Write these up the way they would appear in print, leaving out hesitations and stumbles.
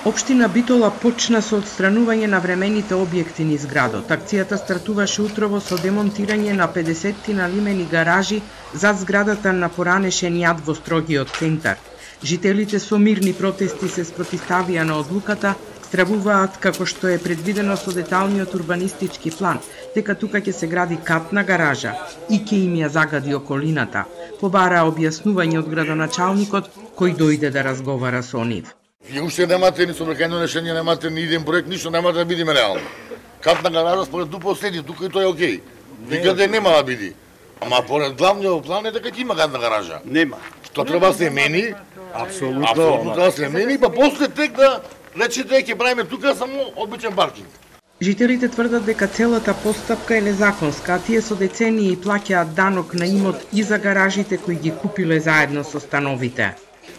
Општина Битола почна со отстранување на времените објекти низ градот. Акцијата стартуваше утрово со демонтирање на 50 лимени гаражи зад зградата на поранешен јад во строгиот центар. Жителите со мирни протести се спротивставија на одлуката, стравуваат како што е предвидено со деталниот урбанистички план, дека тука ќе се гради катна гаража и ќе им ја загади околината. Побараа објаснување од градоначалникот кој дојде да разговара со нив. И уште немате ни собрекајно решение, немате ни иден проект, ништо нема да бидиме реално. Катна гаража според ДУПО следи, тука и тоа е окей. Никаде нема да биди. Ама поред главниот план е дека ќе има катна гаража. Нема. Што треба да се мени? Апсолутно треба да се мени, па после тек да речете ќе правиме тука само обичен паркинг. Жителите тврдат дека целата постапка е незаконска, а тие со децении плаќаат данок на имот и за гаражите кои ги купиле заедно со становите.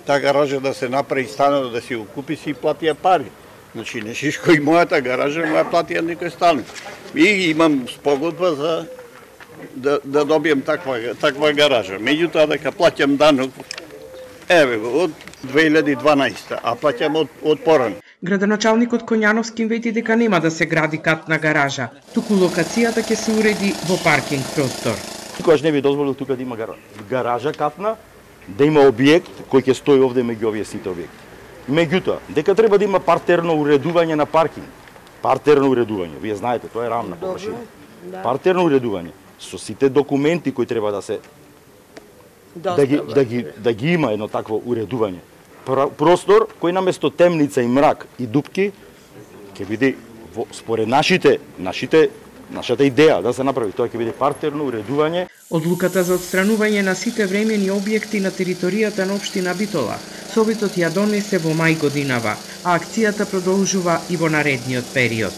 Та гаража да се направи станот, да си го купи, си платија пари. Значи, не шишко и мојата гаража, моја платија некој станот. И имам спогодба за да добием таква гаража. Меѓутоа дека плаќам данок, еве го, од 2012, а плаќам од порано. Градоначалникот Коњановски вети дека нема да се гради катна гаража, туку локацијата ќе се уреди во паркинг простор. Никогаш не би дозволил тука да има гаража катна, да има објект кој ќе стои овде меѓу овие сите објекти. Меѓутоа, дека треба да има партерно уредување на паркинг. Партерно уредување, вие знаете, тоа е рамна површина. Партерно уредување со сите документи кои треба да се да ги има едно такво уредување. Простор кој наместо темница и мрак и дупки ќе биде според нашата идеја да се направи, тоа ќе биде партерно уредување. Одлуката за отстранување на сите времени објекти на територијата на општина Битола, Советот ја донесе во мај годинава, а акцијата продолжува и во наредниот период.